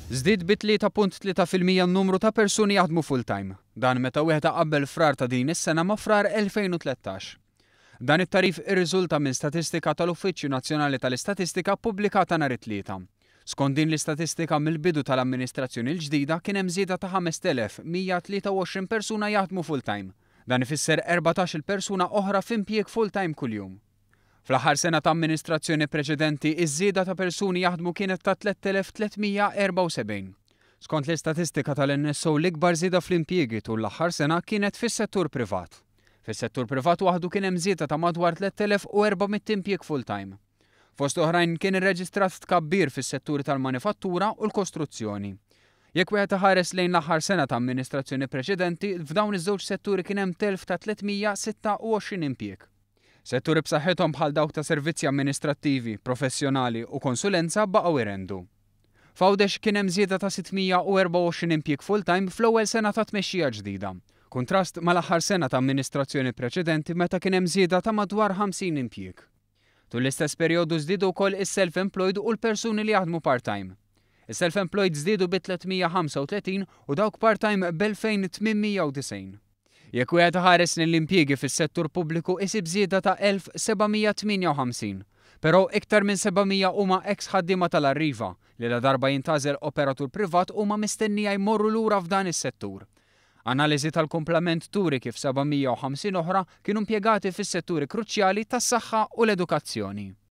Żdied bi 3.3% n-numru ta' persuni jaħdmu full-time. Dan meta wieħed iqabbel Frar ta' din is-sena ma' Frar 2013. Dan it-tagħrif irriżulta minn statistika tal-Uffiċċju Nazzjonali tal-Istatistika ppubblikata nhar it-Tlieta. Skont din l-istatistika mill-bidu tal-amministrazzjoni l-ġdida kien hemm żieda ta' 5,123 persuna jaħdmu full-time. Dan ifisser 14-il persuna oħra f'impjieg full-time kuljum. Fl-aħħar sena ta' amministrazzjoni preċedenti, iż-żieda ta' persuni jaħdmu kienet ta' 3,374. Skont l-istatistika tal-NSO l-ikbar żieda fl-impjiegi tul l-aħħar sena kienet fis-settur privat. Fis-settur privat waħdu kien hemm żieda ta' madwar 3,400 impjieg full-time. Fost oħrajn kien irreġistrat tkabbir fis-setturi tal-manifattura u l-kostruzzjoni. Jekk wieħed iħares lejn l-aħħar sena ta' amministrazzjoni preċedenti, f'dawn iż-żewġ setturi kien hemm telf ta' 326 impjieg. Setturi b'saħħithom bħal dawk ta' servizzi amministrattivi, professjonali u konsulenza baqgħu jrendu. F'Għawdex kien hemm żieda ta' 624 impjieg full-time fl-ewwel sena ta' tmexxija ġdida. Kuntrast mal-aħħar sena ta' amministrazzjoni preċedenti meta kien hemm żieda ta' madwar 50 impjieg. Tul l-istess perjodu żdiedu wkoll is-self-employed u l-persuni li jaħdmu part-time. Is-self-employed żdiedu bi 335 u dawk part-time b'2,890. Jekk wieħed iħares lejn l-impjiegi fis-settur pubbliku isib żieda ta' 1,758. Però iktar minn 700 huma eks ħaddiema tal-Arriva li ladarba jintgħażel operatur privat huma mistennija jmorru lura f'dan is-settur. Analiżi tal-kumplament turi kif 750 oħra kienu impjegati fis-setturi kruċjali tas-saħħa u l-edukazzjoni.